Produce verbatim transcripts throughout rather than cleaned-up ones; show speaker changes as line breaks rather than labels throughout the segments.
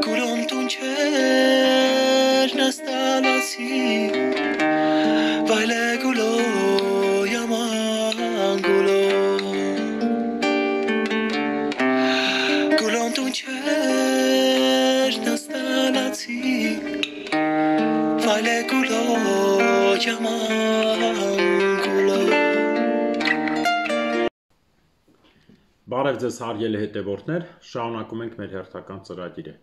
Gulom tuncher nastalasi Vale gulo yaman gulo Gulom tuncher nastalasi Vale gulo yaman gulo
Բարև ձեզ հարգելի հետևորդներ, շարունակում ենք մեր հերթական ծրագիրը։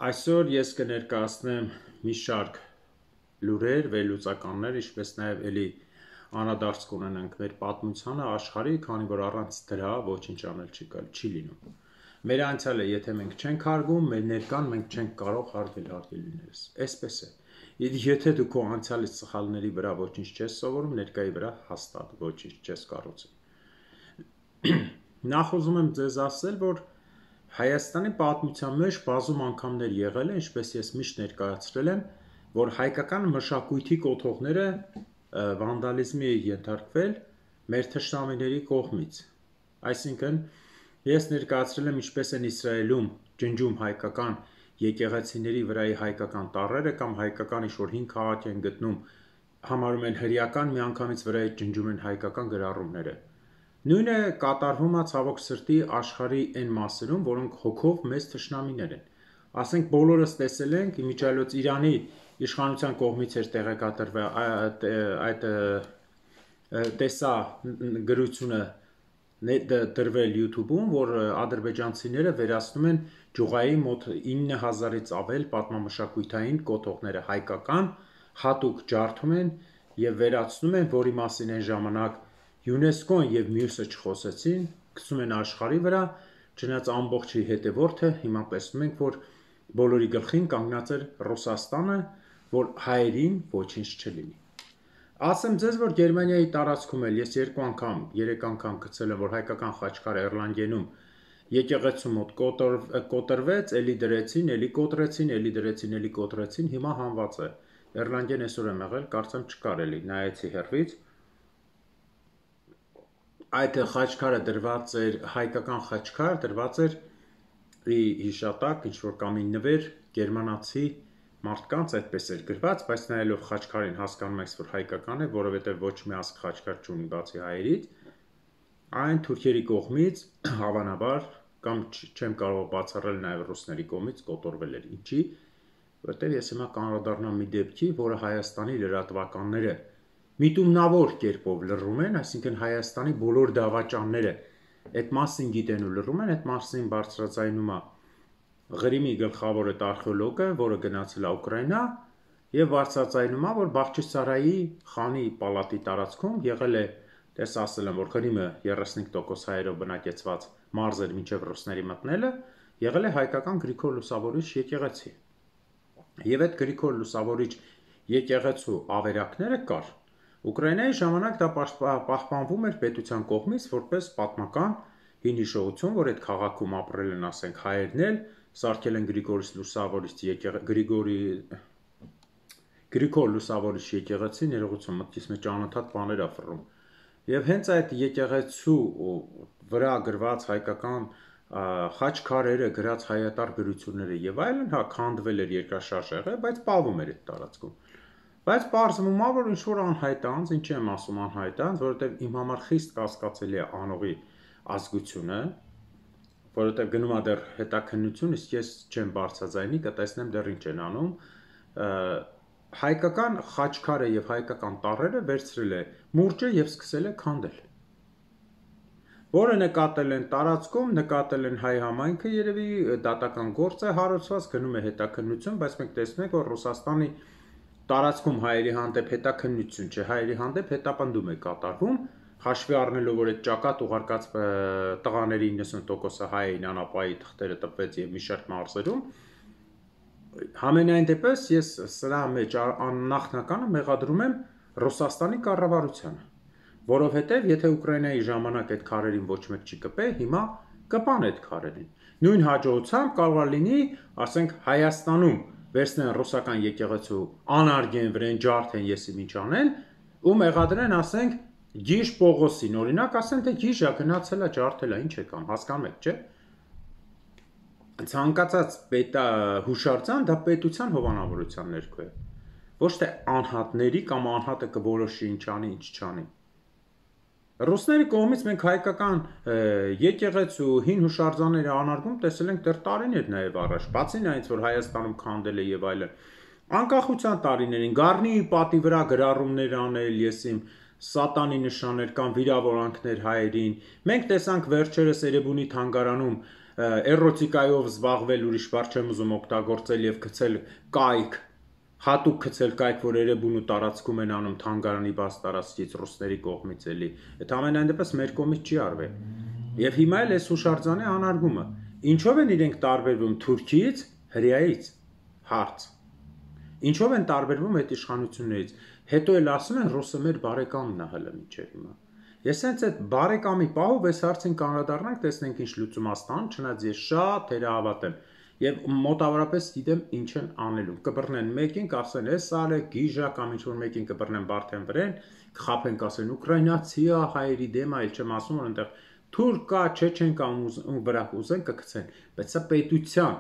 Այսօր ես կներկայացնեմ մի շարք լուրեր, վերլուծականներ, ինչպես նաև էլի անդրադարձ կունենանք մեր պատմությանը, աշխարհի, քանի որ առանց դրա ոչինչ անել չի լինում։ Մեր անցյալը, եթե մենք չենք հարգում, մեր ներկան մենք չենք կարող հարգել հարգելիներս։ Այսպես է։ Եթե դու քո անցյալի սխալների վրա ոչինչ չես սովորում, ներկայի վրա հաստատ ոչինչ չես կառուցում։ Նախ ուզում եմ ձեզ ասել, որ Հայաստանի պատմության մեջ բազում անգամներ եղել է, ինչպես ես միշտ ներկայացրել եմ, որ հայկական մշակույթի կոթողները վանդալիզմի ենթարկվել մեր թշնամիների կողմից։ Այսինքն, ես ներկայացրել եմ ինչպես են Իսրայելում ջնջում հայկական եկեղեցիների վրայի հայկական տառերը կամ հայկական ինչ-որ հին քաղաք են գտնում, համարում են հրեական, միանգամից վրայի ջնջում են հայկական գրառումները։ Նույնը կատարվում է ցավոք սրտի աշխարհի այն մասերում, որոնք հոգով մեծ թշնամիներ են։ Ասենք բոլորս տեսել ենք, իմիջիայլոց Իրանի իշխանության կողմից էր տեղեկատվվել այդ տեսա գրությունը դրվել YouTube-ում, որ ադրբեջանցիները վերացնում են Ջուղայի մոտ ինը հազարից ավել պատմամշակութային կոթողները հայկական, հատուկ ջարդում են եւ վերացնում են, որի մասին այն ժամանակ ՅՈՒՆԵՍԿՕ-ն եւ մյուսը չխոսեցին, գցում են աշխարհի վրա, չնայած ամբողջի հետևորդը հիմա տեսնում ենք, որ բոլորի գլխին կանգնած էր Ռուսաստանը, որ հայերին ոչինչ չլինի։ Ասեմ ձեզ, որ Գերմանիայի տարածքում էլ ես երկու անգամ, երեք անգամ գցել եմ, որ հայկական խաչքարը Էրլանգենում եկեղեցու մոտ կոտրվեց, էլի դրեցին, էլի կոտրեցին, էլի դրեցին, էլի կոտրեցին, հիմա հանված է։ Էրլանգեն այսօր եմ եղել, կարծեմ չկար էլի, նայեցի հեռվից։ Այդ խաչքարը դրված էր, հայկական խաչքար դրված էր հիշատակ, ինչ-որ կամ նվեր գերմանացի մարդկանց այդպես էր գրված, բայց նայելով խաչքարին հասկանում եք, որ հայկական է, որովհետև ոչ մի ազգ խաչքար չունի բացի հայերից, այն թուրքերի կողմից հավանաբար կամ չեմ կարող բացառել նաև ռուսների կողմից կոտորվել էր։ Ինչի՞, որտեղ ես հիմա կանրադառնամ մի դեպքի, որը Հայաստանի լրատվականները միտումնավոր կերպով լռում են, այսինքն Հայաստանի բոլոր դավաճանները այդ մասին գիտեն ու լռում են, այդ մասին բարձրաձայնում է Ղրիմի գլխավոր արխեոլոգը, որը գնացել է Ուկրաինա, եւ բարձրաձայնում է, որ Բախչիսարայի խանի պալատի տարածքում եղել է, դες ասել եմ, որ Ղրիմը երեսունհինգ տոկոս հայերով բնակեցված մարզ էր մինչև ռուսների մտնելը, եղել է հայկական Գրիգոր Լուսավորիչ եկեղեցի։ Եվ այդ Գրիգոր Լուսավորիչ եկեղեցու ավերակները կար։ Ուկրաինայի ժամանակ դա պահպանվում էր պետության կողմից որպես պատմական հին հիշողություն, որ այդ քաղաքում ապրել են, ասենք, հայերն էլ, սարքել են Գրիգոր Լուսավորիչ Գրիգորի Գրիգոր Լուսավորիչ եկեղեցի, ներողություն, մտքիս մեջ անընդհատ բաներ ա ֆռում։ Եվ հենց այդ եկեղեցու վրա գրված հայկական խաչքարերը, գրած հայատար գրությունները եւ այլն, հա, քանդվել էր երկրաշարժ եղել, բայց պահվում էր այդ տարածքում։ Բայց պարզվում է, որ ինչ-որ անհայտ անձ, ինչի եմ ասում անհայտ անձ, որովհետև իմ համար խիստ կասկածելի է անողի ազգությունը, որովհետև գնում է դեռ հետաքննություն, իսկ ես չեմ բարձրաձայնի, կտեսնեմ դեռ ինչ են անում, հայկական խաչքարը եւ հայկական տառերը վերցրել է մուրճը եւ սկսել է քանդել։ Որը նկատել են տարածքում, նկատել են հայ համայնքը, երևի դատական գործ է հարուցված, գնում է հետաքննություն, բայց մենք տեսնում ենք, որ Ռուսաստանի տարածքում հայերի հանդեպ հետաքննություն չէ, հայերի հանդեպ հետապնդում է կատարվում, հաշվի առնելով, որ այդ ճակատ ուղարկած տղաների իննսուն տոկոսը հայ էին, անապայի թղթերը տպվեց եւ մի շարք մարզերում։ Համենայն դեպս ես սրա մեջ նախնականը մեղադրում եմ Ռուսաստանի կառավարությանը, որովհետեւ եթե Ուկրաինայի ժամանակ այդ քարերին ոչ մեկ չի կպե, հիմա կպան այդ քարերին։ Նույն հաջողությամբ կարող է լինի, ասենք, Հայաստանում վերցնեն ռուսական եկեղեցու անարգեն վրեն ջարդեն եսի ինչ անեն ու մեղադրեն, ասենք, Գիշ Պողոսին, օրինակ, ասեն թե գիշ է գնացել է ջարդել է, ինչ է կամ հասկանում եք, չէ։ ցանկացած պետա հուշարձան դա պետության հովանավորության ներքո է։ Ոչ թե անհատների կամ անհատը կորոշի ինչ անի, ինչ չանի։ Ռուսների կողմից մենք հայկական եկեղեցու հին հուշարձանների անարգում տեսել ենք դեռ տարիներ նաև առաջ, բացի նրանից, որ Հայաստանում քանդել է եւ այլն։ Անկախության տարիներին Գառնիի պատի վրա գրառումներ անել, ես իմ սատանի նշաններ կամ վիրավորանքներ հայերին։ Մենք տեսանք վերջերս Էրեբունի թանգարանում էրոտիկայով զբաղվել, ուրիշ բառ չեմ ուզում օգտագործել եւ գցել կայք, հատուկ գցել կայք, որ Էրեբունու տարածքում են անում թանգարանի բաց տարածքից ռուսների կողմից էլի։ Այդ ամենայն դեպս մեր կողմից չի արվել։ Եվ հիմա էլ էս հուշարձանի անարգումը։ Ինչով են իրենք տարբերվում Թուրքիից, հրեայից։ Հարց։ Ինչով են տարբերվում այդ իշխանություններից։ Հետո էլ ասում են ռուսը մեր բարեկամն է հələ մինչև հիմա։ Ես հենց այդ բարեկամի պահով այս հարցին կանդրադառնանք, տեսնենք ինչ լուծում աստան, չնայած ես շատ թերահավատ եմ եւ մոտավորապես գիտեմ ինչ են անելու։ Կբռնեն մեկին, կասեն էս ալե, գիժա կամ ինչ որ մեկին կբռնեն Բարթեն վրեն, կխափեն, կասեն ուկրաինացի է, հայերի դեմ է, այլ չեմ ասում, որ այնտեղ թուրք կա, չեչեն կա ու վրա ուզեն կգցեն, բայց սա պետության։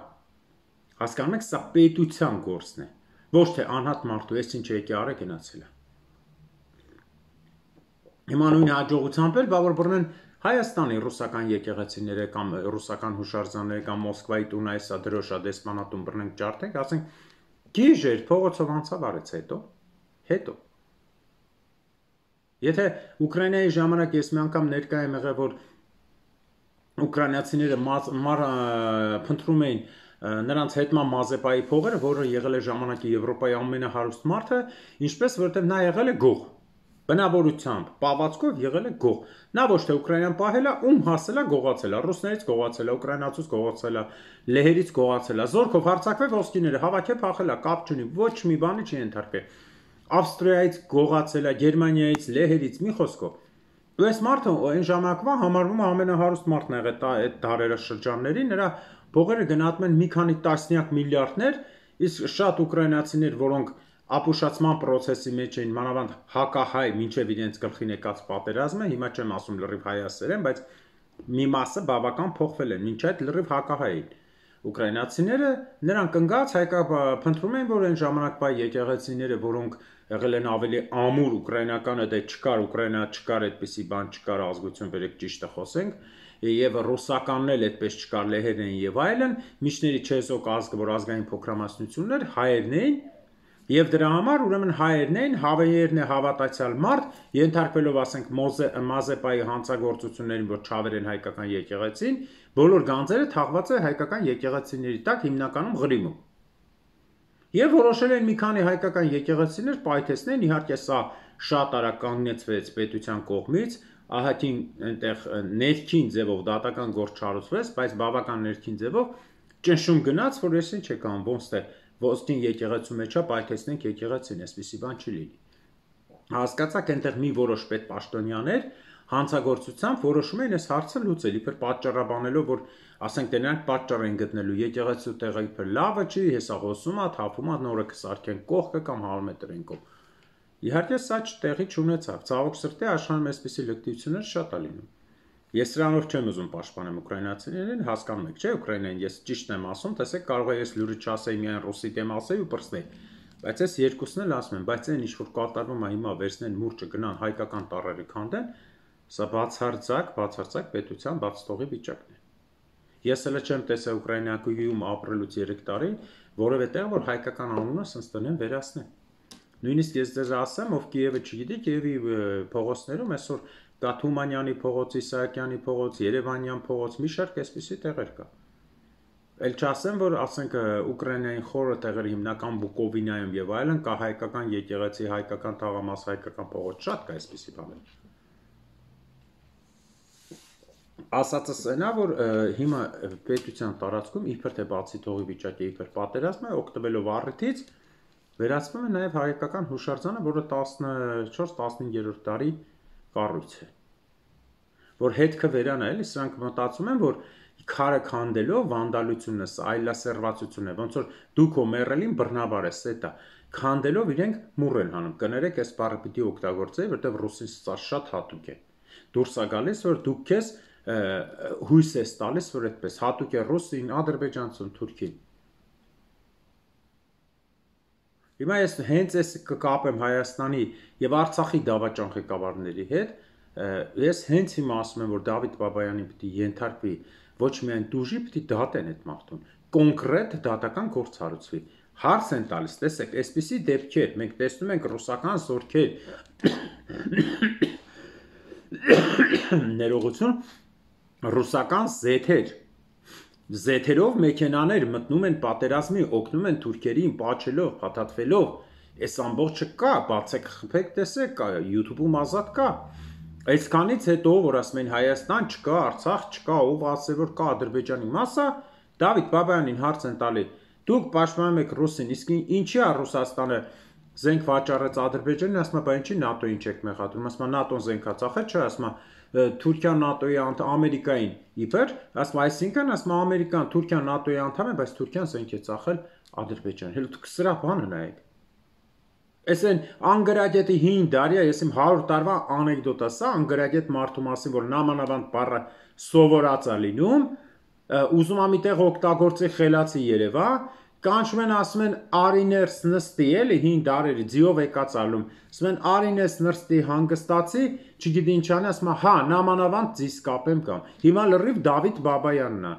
Հասկանում եք, սա պետության գործն է։ Ոչ թե անհատ մարդու, ես ինչ եկի արա գնացել է։ Հիմա նույն հաջողությամբ էլ բա որ բռնեն Հայաստանի ռուսական եկեղեցիները կամ ռուսական հուշարձանները կամ Մոսկվայի տունը այսա դրոշա դեսպանատուն բռնենք ջարդենք, ասենք գիժեր փողոցով անցավ արեց հետո, հետո։ Եթե Ուկրաինայի ժամանակ ես մի անգամ ներկա եմ եղել, որ ուկրաինացիները փնտրում էին նրանց հետման Մազեպայի փողերը, որը եղել է ժամանակի Եվրոպայի ամենահարուստ մարդը, ինչպես որովհետև նա եղել է գող։ Բնավորությամբ, պահվածքով եղել է գող։ Նա ոչ թե Ուկրաինան պահել է, ում հասել է գողացել է, ռուսներից գողացել է, ուկրաինացուց գողացել է, լեհերից գողացել է, զորքով հարձակվել ոսկիները, հավաքել փախել է, կապ չունի, ոչ մի բանի չի ենթարկվել։ Ավստրիայից գողացել է, Գերմանիայից, լեհերից, մի խոսքով։ Ու այս մարդը այն ժամանակվա համարվում է ամենահարուստ մարդն եղել այդ դարաշրջանների, նրա փողերը գնահատվում են մի քանի տասնյակ միլիարդներ, իսկ շատ ուկրաինացիներ, որոնք ապուշացման process-ի մեջ էին, մանավանդ հակահայ, մինչև իրենց գլխին եկած պատերազմը, հիմա չեմ ասում լրիվ հայասերեն, բայց մի մասը բավական փոխվել են, մինչ այդ լրիվ հակահայ էին։ Ուկրաինացիները նրանք ընկած հայկա փնտրում են, որ այն ժամանակվա եկեղեցիները, որոնք եղել են ավելի ամուր ուկրաինականը, դե չկար, Ուկրաինա չկար, այդպիսի բան չկար, ազգություն վերեք ճիշտը խոսենք, եւ ռուսականն էլ այդպես չկար, լեհերն էին եւ այլն, միջների չեզոք ազգը, որ ազգային փոքրամասնություններ, հայերն էին, եւ դրա համար ուրեմն հայերն էին, հավերն է հավատացյալ մարդ, ենթարկվելով ասենք Մազեպայի հանցագործություններին, որ չավեր են հայկական եկեղեցին, բոլոր գանձերը թաղված է հայկական եկեղեցիների տակ, հիմնականում Ղրիմում։ Եվ որոշել են մի քանի հայկական եկեղեցիներ պայթեցնեն, իհարկե սա շատ արագ կանգնեցվեց պետության կողմից, ահագին այնտեղ ներքին ձևով դատական գործ չարուցվեց, բայց բավական ներքին ձևով ճնշում գնաց, որ ես ինչ եկան, ոնց թե ոսկին եկեղեցու մեջ է պայթեցնենք եկեղեցին, այսպիսի բան չի լինի։ Հասկացաք, այնտեղ մի որոշ պետպաշտոնյաներ հանցագործությամբ որոշում են այս հարցը լուծել, իբր պատճառաբանելով, որ ասենք դե նրանք պատճառ են գտնելու եկեղեցու տեղը իբր լավը չի, հեսա հոսում է, թափում է, նորը կսարքեն կողքը կամ հալմետրեն կողմ։ Իհարկե սա տեղի չունեցավ, ցավոք սրտի աշխարհում այսպիսի լկտիություններ շատ է լինում։ Ես սրանով չեմ ուզում պաշտպանել ուկրաինացիներին, հասկանում եք, չէ՞, Ուկրաինային ես ճիշտն եմ ասում, տեսեք, կարող է ես լուրը չասեի միայն ռուսի դեմ ասեի ու պրծնեի, բայց ես երկուսն էլ ասում եմ, բայց այն ինչ որ կատարվում է հիմա վերցնեն մուրճը գնան հայկական տառերը քանդեն, սա բացարձակ, բացարձակ պետության բացթողի վիճակն է։ Ես էլ չեմ տեսել Ուկրաինայում ապրելուց երեք տարի, որևէ տեղ որ հայկական անունը սենց տնեն վերացնեն։ Նույնիսկ ես ձեզ ասեմ, ով Կիևը չգիտի, Կիևի փողոցներում այսօր կա Թումանյանի փողոց, Իսահակյանի փողոց, Երևանյան փողոց, մի շարք այսպիսի տեղեր կա։ Էլ չասեմ, որ ասենք Ուկրաինային խորը տեղերը հիմնական Բուկովինայում եւ այլն կա հայկական եկեղեցի, հայկական թաղամաս, հայկական փողոց, շատ կա այսպիսի բաներ։ Ասածս այնա, որ հիմա պետության տարածքում իբր թե բացի թողի վիճակի իբր պատերազմ է, օգտվելով առիթից վերացվում է նաև հայկական հուշարձանը, որը տասնչորս տասնհինգերորդ դարի կառույց է, որ հետքը վերանա, էլի սրանք մտածում են, որ քարը քանդելով վանդալությունը, այլասերվածություն է, ոնց որ դուք ո մեռելին բռնաբար ես, դա քանդելով իրենք մուռ են հանում, կներեք, այս բառը պիտի օգտագործեի, որտեղ ռուսին սա շատ հատուկ է։ Դուրս է գալիս, որ դուք քեզ հույս ես տալիս, որ այդպես հատուկ է ռուսին, ադրբեջանցուն, թուրքին։ Հիմա ես հենց ես կկապեմ Հայաստանի եւ Արցախի դավաճան ղեկավարների հետ, ես հենց հիմա ասում եմ, որ Դավիթ Բաբայանին պիտի ենթարկվի ոչ միայն դուժի, պիտի դատեն այդ մարդուն, կոնկրետ դատական գործ հարուցվի։ Հարց են տալիս, տեսեք, այսպիսի դեպքեր, մենք տեսնում ենք ռուսական զորքեր, ներողություն, ռուսական զեթեր, զեթերով մեքենաներ մտնում են պատերազմի, օգնում են թուրքերին, պաչելով, փաթաթվելով, այս ամբողջը կա, բացեք խփեք, տեսեք, կա, YouTube-ում ազատ կա։ Այսքանից հետո, որ ասում են Հայաստան չկա, Արցախ չկա, ով ասե որ կա Ադրբեջանի մասը, Դավիթ Բաբայանին հարց են տալի, դուք պաշտպանում եք ռուսին, իսկ ինչի է Ռուսաստանը զենք վաճառեց Ադրբեջանին, ասում է, բա ինչի ՆԱՏՕ-ին չեք մեղադրում, ասում է ՆԱՏՕ-ն զենք է ծախել, չէ, ասում է Թուրքիան ՆԱՏՕ-ի անդամ, Ամերիկային իբր, ասում է, այսինքն, ասում է, Ամերիկան, Թուրքիան ՆԱՏՕ-ի անդամ է, բայց Թուրքիան զենք է ծախել Ադրբեջանին։ Հենց դուք սրա բանը նայեք։ Այս են անգրագետի հին դարիա, ես իմ հարյուր տարվա անեկդոտ է սա, անգրագետ մարդու մասին, որ նամանավանդ բառը սովորած է լինում, ուզում ա միտեղ օգտագործի խելացի Երևա, կանչում են ասում են արիներս նստի, էլի հին դարերի ձիով եկած ալում, ասում են արինես նստի հանգստացի, չգիտի ինչ անի, ասում է հա, նամանավանդ ձիս կապեմ կամ։ Հիմա լրիվ Դավիթ Բաբայանն է։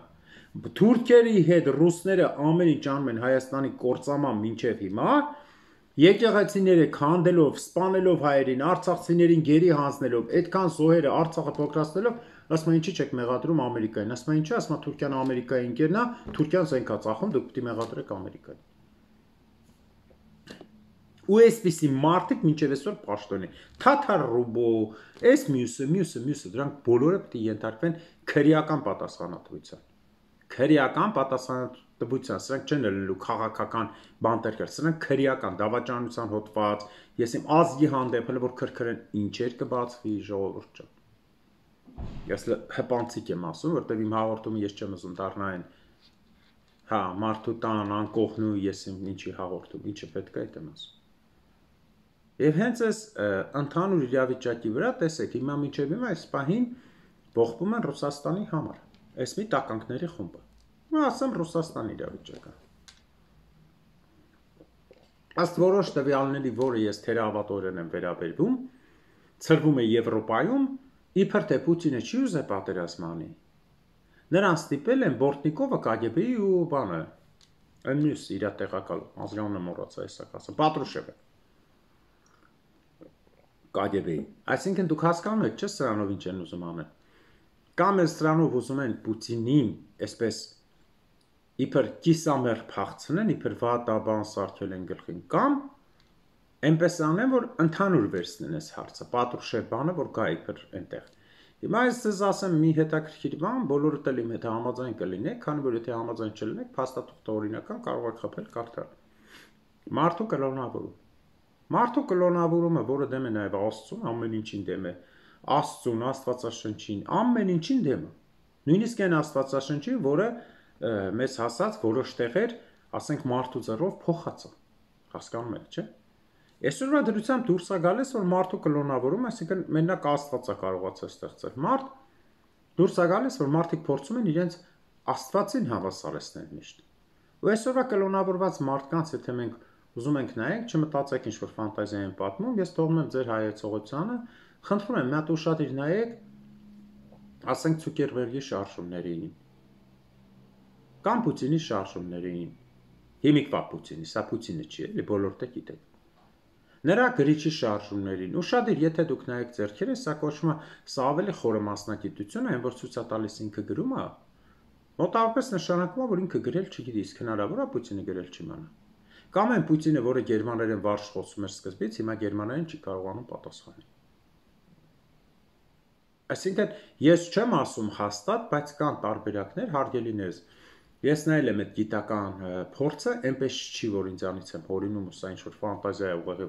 Թուրքերի հետ ռուսները ամեն ինչ անում են Հայաստանի կործանման մինչև հիմա, եկեղեցիները քանդելով, սպանելով հայերին, արցախցիներին գերի հանձնելով, այդքան զոհերը Արցախը փոքրացնելով, ասում են ինչի՞ չեք մեղադրում Ամերիկային, ասում են ինչի, ասում է Թուրքիան Ամերիկայի ընկերն է, Թուրքիան զենք է ծախում, դուք պիտի մեղադրեք Ամերիկային։ Ու այսպիսի մարդիկ մինչև այսօր պաշտոնի, Թաթար Ռուբո, այս մյուսը, մյուսը, մյուսը, դրանք բոլորը պիտի ենթարկվեն քրեական պատասխանատվության։ Քրեական պատասխանատվության, սրանք չեն լինելու քաղաքական բանտերկեր, սրանք քրեական դավաճանության հոդված, ես իմ ազգի հանդեպ հələ որ քրքրեն ինչեր կբացվի ժողովուրդ ջան։ Ես հպանցիկ եմ ասում, որտեղ իմ հաղորդումը ես չեմ ուզում դառնային, հա, մարդու տան անկողնու ես իմ ինչի հաղորդում, ինչը պետք է այդ եմ ասում։ Եվ հենց այս ընդհանուր իրավիճակի վրա, տեսեք, հիմա մինչև հիմա այս պահին բողբում են Ռուսաստանի համար, այս մի տականքների խումբը։ Ու ասեմ Ռուսաստանի իրավիճակը։ Ըստ որոշ տվյալների, որը ես թերահավատորեն եմ վերաբերվում, ցրվում է Եվրոպայում, իբր թե Պուտինը չի ուզե պատերազմ անի։ Նրան ստիպել են Բորտնիկովը Կա Գե Բի-ի ու բանը, այն մյուս իր տեղակալ ազգանունը մոռացա հեսա ասեմ, Պատրուշևը։ Կա Գե Բի-ի։ Այսինքն դուք հասկանում եք, չէ՞ սրանով ինչ են ուզում անել։ Կամ էլ սրանով ուզում են Պուտինին, այսպես իբր կիսամերկ փախցնեն, իբր վատաբան սարքել են գլխին, կամ այնպես անեն, որ ընդհանուր վերցնեն այս հարցը, Պատրուշև բանը, որ գա իբր այնտեղ։ Հիմա ես ձեզ ասեմ մի հետաքրքիր բան, բոլորդ էլ իմ հետ համաձայն կլինեք, քանի որ եթե համաձայն չլինեք, փաստաթուղթը օրինական կարող եք խփել կարդալ։ Մարդու կլոնավորում։ Մարդու կլոնավորումը, որը դեմ է նաև Աստծուն, ամեն ինչին դեմ է, Աստծուն, Աստվածաշնչին, ամեն ինչին դեմ է։ Նույնիսկ այն Աստվածաշնչին, որը մեզ հասած որոշ տեղեր, ասենք մարդու ձեռով փոխած է։ Հասկանում եք, չէ՞։ Այսօրվա դրությամբ դուրս է գալիս, որ մարդու կլոնավորում, այսինքն մենակ Աստվածը կարողացել ստեղծել մարդ, դուրս է գալիս, որ մարդիկ փորձում են իրենց Աստվածին հավասարեցնել միշտ։ Ու այսօրվա կլոնավորված մարդկանց, եթե մենք ուզում ենք նայենք, չմտածեք ինչ-որ ֆանտազիա են պատմում, ես թողնում եմ ձեր հայեցողությանը, խնդրում եմ, մի հատ ուշադիր նայեք, ասենք Ցուկերբերգի շարժումներին, կամ Պուտինի շարժումներին, հիմիկվա Պուտինի, սա Պուտինը չի, էլի բոլորդ եք գիտեք։ Նրա գրիչի շարժումներին, ուշադիր, եթե դուք նայեք ձեռքերը, սա կոչվում է, սա ավելի խորը մասնագիտություն է, այն որ ցույց է տալիս ինքը գրում է, մոտավորապես նշանակում է, որ ինքը գրել չգիտի, իսկ հնարավոր է Պուտինը գրել չիմանա։ Կամ այն Պուտինը, որը գերմաներեն վարժ խոսում էր սկզբից, հիմա գերմաներեն չի կարողանում պատասխանել։ Այսինքն, ես չեմ ասում հաստատ, բայց կան տարբերակներ, հարգելիներս։ Ես նայել եմ այդ գիտական փորձը, այնպես չի, որ ինձանից եմ հորինում, ու սա ինչ-որ ֆանտազիա է ուղղակի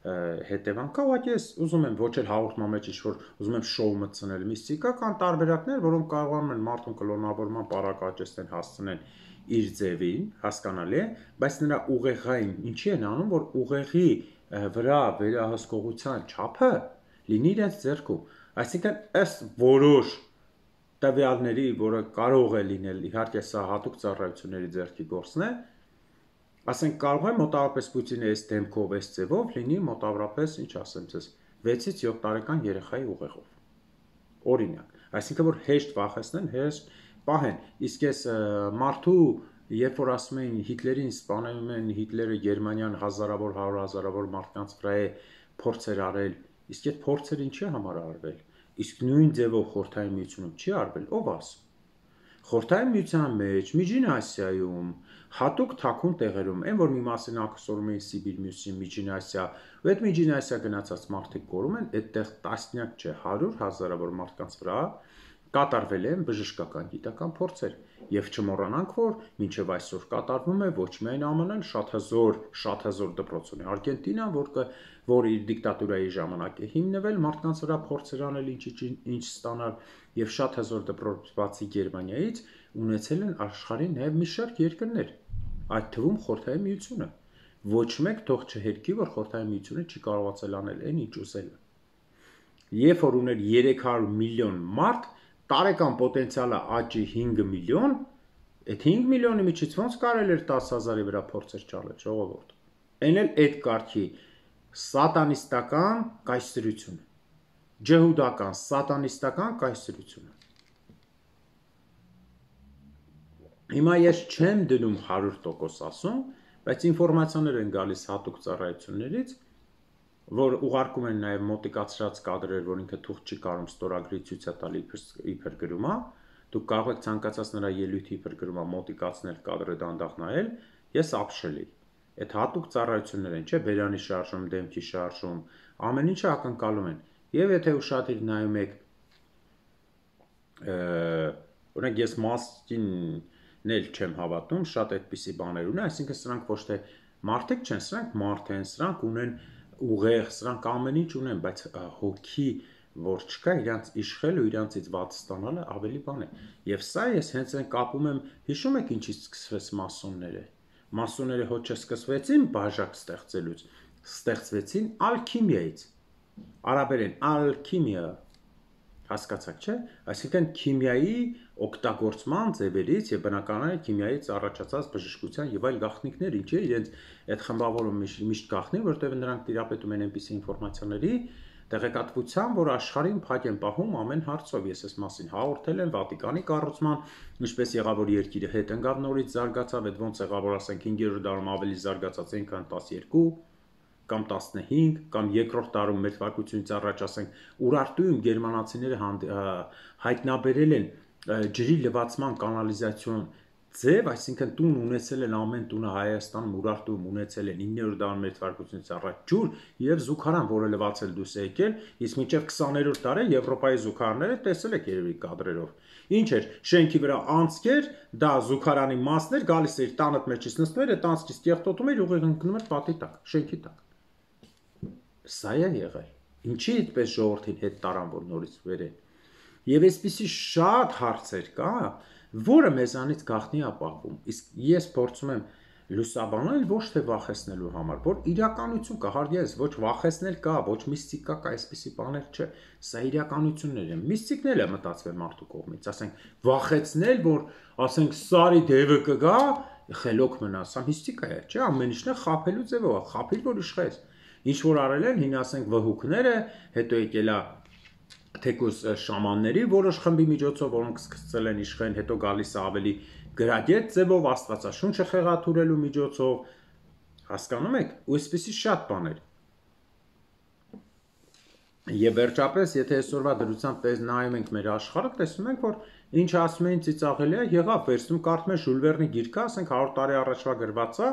հետևանք կա, ուղղակի ես ուզում եմ ոչ էլ հաղորդման մեջ ինչ-որ ուզում եմ շոու մտցնել, միստիկա, կան տարբերակներ, որոնք կարողանում են մարդուն կլոնավորման պարակաճեցնեն, հասցնեն իր ձևին, հասկանալի է, բայց նրա ուղեղային ինչի են անում, որ ուղեղի վրա վերահսկողության չափը լինի իրենց ձեռքում։ Այսինքն, ըստ որոշ տվյալների, որը կարող է լինել, իհարկե սա հատուկ ծառայությունների ձեռքի գործն է, ասենք կարող է մոտավորապես Պուտինի այս դեմքով, այս ձևով լինի մոտավորապես, ինչ ասեմ ձեզ, վեցից յոթ տարեկան երեխայի ուղեղով։ Օրինակ, այսինքն որ հեշտ վախեցնեն, հեշտ պահեն, իսկ ես մարդու, երբ որ ասում էին Հիտլերին սպանել են, Հիտլերը Գերմանիան հազարավոր, հարյուր հազարավոր մարդկանց վրա է փորձեր արել, իսկ այդ փորձերը ինչի համար արվել, իսկ նույն ձևով Խորհրդային Միությունում չի արվել, ով ասում։ Խորհրդային Միության մեջ, Միջին Ասիայում, հատուկ թաքուն տեղերում, այն որ մի մասին ակսորում էին Սիբիր, մյուսին Միջին Ասիա, ու այդ Միջին Ասիա գնացած մարդիկ կորում են, այդտեղ տասնյակ չէ, հարյուր հազարավոր մարդկանց վրա կատարվել են բժշկական գիտական փորձեր, եւ չմոռանանք, որ մինչեւ այսօր կատարվում է ոչ միայն ԱՄՆ-ն, շատ հզոր, շատ հզոր դպրոց ունի Արգենտինան, որ որ իր դիկտատուրայի ժամանակ է հիմնվել, մարդկանց վրա փորձեր անել ինչ ինչ ստանալ, եւ շատ հզոր դպրոց բացի Գերմանիայից ունեցել են աշխարհի նաեւ մի շարք երկրներ, այդ թվում Խորհրդային Միությունը։ Ոչ մեկ թող չհերկի, որ Խորհրդային Միությունը չի կարողացել անել այն, ինչ ուզել է։ Երբ որ ուներ երեք հարյուր միլիոն մարդ, տարեկան պոտենցիալը աճի հինգ միլիոն, այդ հինգ միլիոնի միջից ոնց կարել էր տասը հազարի վրա փորձեր ճարել, ժողովուրդ։ Այն էլ այդ կարգի սատանիստական կայսրությունը, ջհուդական, սատանիստական կայսրությունը։ Հիմա ես չեմ դնում հարյուր տոկոս ասում, բայց ինֆորմացիաներ են գալիս հատուկ ծառայություններից, որ ուղարկում են նաև մոտիկացրած կադրեր, որ ինքը թուղթ չի կարող ստորագրի ցույց տալ իբր գրումա, դուք կարող եք ցանկացած նրա ելույթի իբր գրումա մոտիկացնել կադրը դանդաղ նայել, ես ապշել եի։ Այդ հատուկ ծառայություններ են, չէ, բերանի շարժում, դեմքի շարժում, ամեն ինչը ակնկալում են։ Եվ եթե ուշադիր նայում եք, օրինակ ես մասկին էլ չեմ հավատում, շատ այդպիսի բաներ ունեն, այսինքն սրանք ոչ թե մարդիկ չեն, սրանք մարդ են, սրանք ունեն ուղեղ, սրանք ամեն ինչ ունեն, բայց հոգի, որ չկա, իրանց իշխել ու իրանցից վատ ստանալը ավելի բան է։ Եվ սա ես հենց այն կապում եմ, հիշում եք ինչից սկսվեց մասոնները։ Մասոնները հոչ չսկսվեցին բաժակ ստեղծելուց, ստեղծվեցին ալքիմիայից։ Արաբերեն ալքիմիա, հասկացաք, չէ՞։ Այսինքն քիմիայի օգտագործման ձևերից եւ բնականաբար քիմիայից առաջացած բժշկության եւ այլ գաղտնիքներ, ինչի իրենց այդ խմբավորումը միշտ գաղտնի, որտեղ նրանք տիրապետում են այնպիսի ինֆորմացիաների տեղեկատվության, որ աշխարհին փակ են պահում ամեն հարցով։ Ես այս մասին հաղորդել եմ Վատիկանի կառուցման, ինչպես եղավ որ երկիրը հետ ընկավ նորից զարգացավ, այդ ոնց եղավ որ ասենք հինգերորդ դարում ավելի զարգացած են, քան տասներկու կամ տասնհինգ կամ երկրորդ դարում մեր թվարկությունից առաջ ասենք Ուրարտուում գերմանացիները հայտնաբերել են ջրի լվացման կանալիզացիոն ձև, այսինքն տուն ունեցել են ամեն տունը Հայաստանում Ուրարտուում ունեցել են իններորդ դարում մեր թվարկությունից առաջ ջուր եւ զուգարան, որը լվացել դուրս է եկել, իսկ մինչեւ քսաներորդ դարը Եվրոպայի զուգարանները տեսել եք երևի կադրերով։ Ինչ էր, շենքի վրա անցքեր, դա զուգարանի մասներ, գալիս էր տանդ մեջից նստում էր, այդ անցքից կեղտոտում էր, ուղիղ ընկնում էր պատի տակ, շենքի տակ։ Սա է եղել։ Ինչի այդպես ժողովրդին հետ տարան, որ նորից վերեն։ Եվ այսպիսի շատ հարցեր կա, որը մեզանից գաղտնի ապահվում։ Իսկ ես փորձում եմ լուսաբանել ոչ թե վախեցնելու համար, որ իրականություն կա, հարգես, ոչ վախեցնել կա, ոչ միստիկա կա, այսպիսի բաներ չէ։ Սա իրականություններ են։ Միստիկն էլ է մտածվել մարդու կողմից, ասենք վախեցնել, որ ասենք սարի դևը կգա, խելոք մնա, սա միստիկա է, չէ՞, ամեն ինչն է խաբելու ձևով, խաբել որ իշխես։ Ինչ որ արել են, հին ասենք վհուկները, հետո եկելա թեկուս շամանների որոշ խմբի միջոցով, որոնք սկսել են իշխեն, հետո գալիս է ավելի գրագետ ձևով աստվածաշունչը խեղաթուրելու միջոցով, հասկանում եք, ու այսպեսի շատ բաներ։ Եվ վերջապես, եթե այսօրվա դրությամբ նայում ենք մեր աշխարհը, տեսնում ենք, որ ինչ ասում էին ծիծաղելի է, եղավ, վերցնում կարդում ես Ժուլ Վերնի գիրքը, ասենք հարյուր տարի առաջվա գրված է,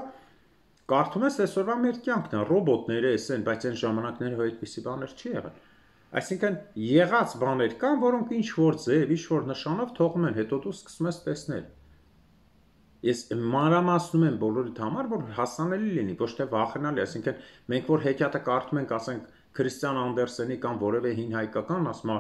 կարդում ես այսօրվա մեր կյանքն է, ռոբոտները էս են, բայց այն ժամանակները այդպիսի բաներ չի եղել։ Այսինքն եղած բաներ կան, որոնք ինչ որ ձև, ինչ որ նշանով թողում են, հետո դու սկսում ես տեսնել։ Ես մանրամասնում եմ բոլորիդ համար, որ հասանելի լինի, ոչ թե վախենալի, այսինքն մենք որ հեքիաթը կարդում ենք, ասենք Քրիստիան Անդերսենի կամ որևէ հին հայկական, ասում է,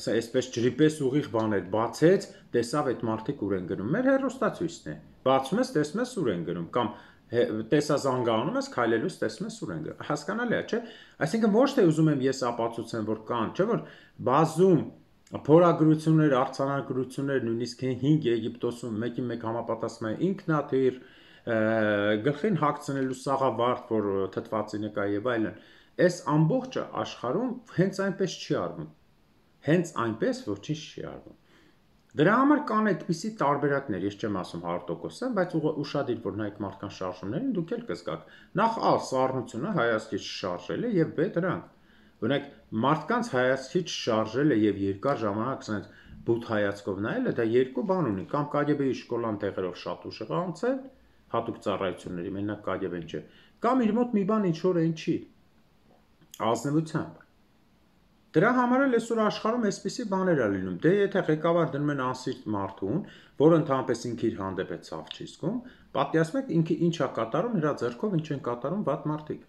ասա այսպես ջրիպես ուղիղ բաներ, բացեց, տեսավ այդ մարդիկ ուր են գնում։ Մեր հերոստացույցն է։ Բացում ես, տեսնում ես ուր են գնում, կամ տեսազանգանում ես, քայլելուց տեսնում ես ուր են գնում։ Հասկանալի է, չէ՞։ Այսինքն ոչ թե ուզում եմ ես ապացուցեմ, որ կան, չէ՞ որ բազում Փորագրություններ, արձանագրություններ, նույնիսկ հինգ Եգիպտոսում մեկի մեկ համապատասխանում է ինքնաթիռ, գլխին հագցնելու սաղավարտ, որ թթվածի նկա եւ այլն, այս ամբողջը աշխարհում հենց այնպես չի արվում։ Հենց այնպես ոչինչ չի արվում։ Դրա համար կան այդպիսի տարբերակներ, ես չեմ ասում հարյուր տոկոս, բայց ուշադիր որ նայեք մարդկանց շարժումներին, դուք էլ կզգաք։ Նախ ա սառնությունը հայացքից շարժել է եւ բ դրանք։ Օրինակ մարդկանց հայացքից շարժելը եւ երկար ժամանակ ասենք բութ հայացքով նայելը դա երկու բան ունի, կամ կագեբեի շկոլան տեղերով շատ ուշ եղա անցել, հատուկ ծառայությունների, մենակ կագեբեն չէ, կամ իր մոտ մի բան ինչ որ այն չի։ Ազնվությամբ։ Դրա համար էլ այսօր աշխարհում այսպիսի բաներ է լինում։ Դե եթե ղեկավար դնում են անսիրտ մարդուն, որը ընդհանրապես ինքը իր հանդեպ է ցավ չի զգում, պատկերացնում եք ինքը ինչ է կատարում, նրա ձեռքով ինչ են կատարում վատ մարդիկ,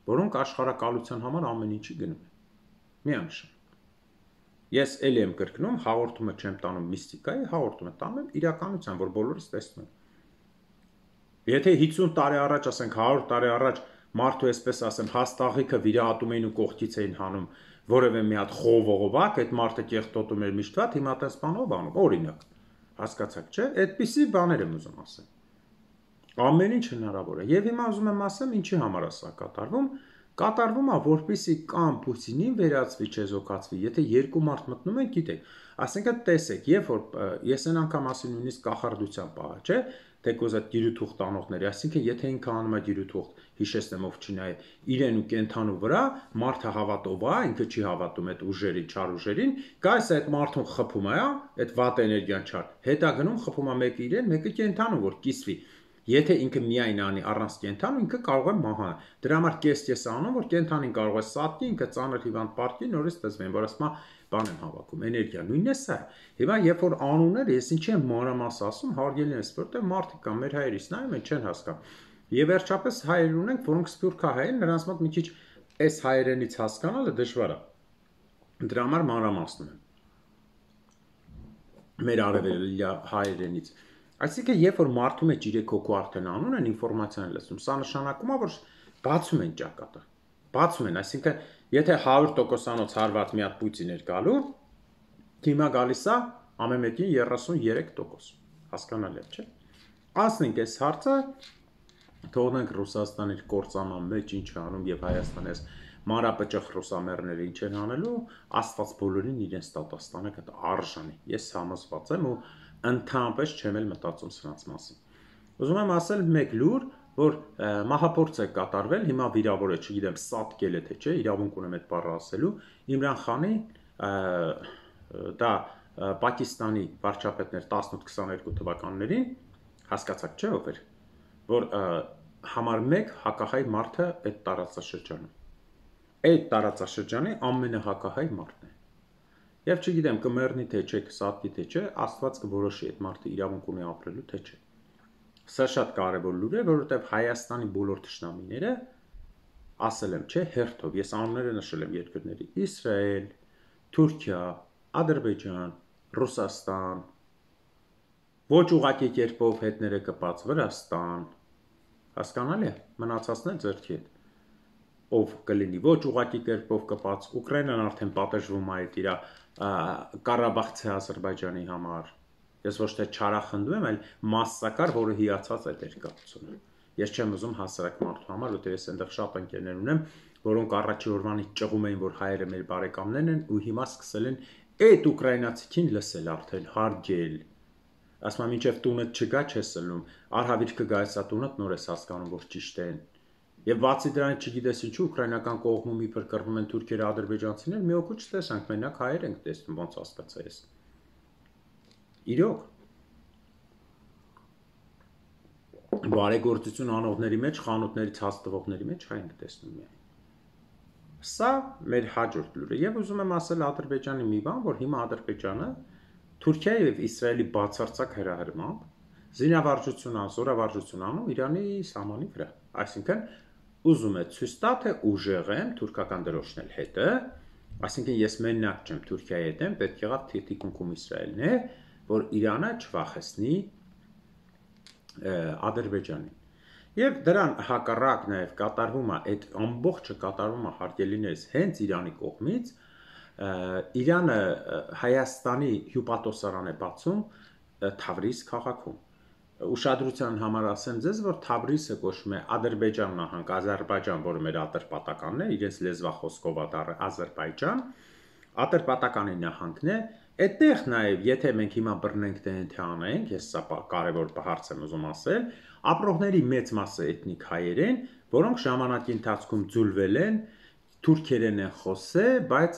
որոնք աշխարհակալության համար ամեն ինչի գնում են։ Միանշան։ Ես ելի եմ կրկնում, հաղորդումը չեմ տանում միստիկայի, հաղորդումը տանում եմ իրականության, որ բոլորս տեսնում են։ Եթե հիսուն տարի առաջ, ասենք հարյուր տարի առաջ մարդու այսպես ասեմ, հաստաղիքը վիրահատում էին ու կողքից էին հանում որևէ մի հատ խողովողովակ, այդ մարդը կեղտոտում էր միշտ վատ, հիմա տես բանով անում, օրինակ։ Հասկացաք, չէ՞։ Այդպիսի բաներ եմ ուզում ասել։ Ամեն ինչ հնարավոր է։ Եվ հիմա ուզում եմ ասեմ, ինչի համար է սա կատարվում։ Կատարվում է, որպեսզի կամ Պուտինին վերածվի, չեզոքացվի, եթե երկու մարդ մտնում են, գիտեք, ասենք տեսեք, երբ որ ես այն անգամ ասի նույնիսկ կախարդության պահը, չէ՞, թեկոզ այդ դիրութուղ տանողների, այսինքն եթե ինքը անում է դիրութուղ, հիշեցնեմ ով չի նայ, իրեն ու կենթանու վրա, մարդը հավատով է, ինքը չի հավատում այդ ուժերին, չար ուժերին, գայս այդ մարդուն խփում է, այդ վատ էներգիան չար, հետա գնում խփում է մեկը իրեն, մեկը կենթանու, որ կիսվի։ Եթե ինքը միայն անի առանց կենթանու, ինքը կարող է մահանալ։ Դրա համար կես-կես անում, որ կենթանին կարող է սատկի, ինքը ծանր հիվանդ պարտքի, նորից տեսվեն, որ ասма բան եմ հավաքում, էներգիա, նույնն է սա։ Հիմա երբ որ անուններ, ես ինչ եմ մանրամաս ասում, հարգելի ես, որտեղ մարդիկ կան, մեր հայերից նայում են, չեն հասկանում։ Եվ վերջապես հայեր ունենք, որոնք սփյուռքահայ են, նրանց մոտ մի քիչ այս հայերենից հասկանալը դժվար է։ Դրա համար մանրամասնում եմ։ Մեր արևելյա հայերենից։ Այսինքն, երբ որ մարդու մեջ երեք հոգու արդեն անուն են ինֆորմացիան լսում, սա նշանակում է, որ բացում են ճակատը։ Բացում են, այսինքն, եթե հարյուր տոկոսանոց հարված մի հատ Պուտին էր գալու, հիմա գալիս է ամեն մեկին երեսուններեք տոկոս։ Հասկանալի է, չէ՞։ Ասենք այս հարցը թողնենք Ռուսաստանի կործանման մեջ ինչ է անում եւ Հայաստանի այս մանրապճախ ռուսամերները ինչ են անելու, Աստված բոլորին իրենց տատաստանը կտա արժանի։ Ես համոզված եմ ու ընդհանրապես չեմ էլ մտածում սրանց մասին։ Ուզում եմ ասել մեկ լուր, որ մահափորձ է կատարվել, հիմա վիրավոր է, չգիտեմ, սատկել է թե չէ, իրավունք ունեմ այդ բառը ասելու, Իմրան Խանի դա Պակիստանի վարչապետներ տասնութ քսաներկու թվականներին, հասկացաք չէ ով էր, որ համար մեկ հակահայ մարդը այդ տարածաշրջանում։ Այդ տարածաշրջանի ամենահակահայ մարդն է։ Եվ չգիտեմ, կմեռնի թե չէ, կսատկի թե չէ, Աստված կորոշի այդ մարդը իրավունք ունի ապրելու թե չէ։ Սա շատ կարևոր լուր է, որովհետև Հայաստանի բոլոր թշնամիները ասել եմ, չէ, հերթով, ես անունները նշել եմ երկրների՝ Իսրայել, Թուրքիա, Ադրբեջան, Ռուսաստան, ոչ ուղղակի կերպով հետները կպած Վրաստան, հասկանալի է, մնացածն է ձեռքի հետ։ Ով կլինի ոչ ուղղակի կերպով կպած, Ուկրաինան արդեն պատժվում է այդ իր Ղարաբաղցի Ադրբեջանի համար։ Ես ոչ թե չարախնդում եմ, այլ մասսակար, որը հիացած այդ երկաթությունը։ Ես չեմ ուզում հասարակ մարդու համար, որտեղ ես այնտեղ շատ ընկերներ ունեմ, որոնք առաջի օրվանից ճղում էին, որ հայերը մեր բարեկամներն են, ու հիմա սկսել են այդ ուկրաինացիքին լսել արդեն, հարգել։ Ասում եմ, մինչև տունդ չգա, չես լնում, արհավիրքը գա էսա տունդ, նոր ես հասկանում, որ ճիշտ են։ Եվ բացի դրանից չգիտես ինչու ուկրաինական կողմում իբր կռվում են թուրքերը, ադրբեջանցիները, մի օգուտ չտեսանք, մենակ հայեր ենք տեսնում, ոնց հասկացա ես։ Իրոք։ Բարեգործություն անողների մեջ, խանութներից հաց տվողների մեջ հայ ենք տեսնում միայն։ Սա մեր հաջորդ լուրը։ Եվ ուզում եմ ասել Ադրբեջանի մի բան, որ հիմա Ադրբեջանը Թուրքիայի եւ Իսրայելի բացարձակ հրահրմամբ զինավարժություն, զորավարժություն անում Իրանի սահմանի վրա։ Այսինքն ուզում է ցույց տա, թե ուժեղ եմ թուրքական դրոշն էլ հետը, այսինքն ես մենակ չեմ Թուրքիայի հետ եմ, պետք եղավ թիկունքում Իսրայելն է, որ Իրանը չվախեցնի Ադրբեջանին։ Եվ դրան հակառակ նաև կատարվում է այդ ամբողջը կատարվում է հարգելիներս հենց Իրանի կողմից, Իրանը Հայաստանի հյուպատոսարան է բացում Թավրիզ քաղաքում։ Ուշադրության համար ասեմ ձեզ, որ Թավրիզը կոչվում է Ադրբեջան նահանգ, Ադրբեջան, որը մեր ատրպատականն է, իրենց լեզվախոսքով Ադրբեջան, ատրպատականի նահանգն է։ Այդտեղ նաև, եթե մենք հիմա բռնենք թե անենք, ես սա կարևոր հարց եմ ուզում ասել, ապրողների մեծ մասը էթնիկ հայեր են, որոնք ժամանակի ընթացքում ձուլվել են, թուրքերեն են խոսել, բայց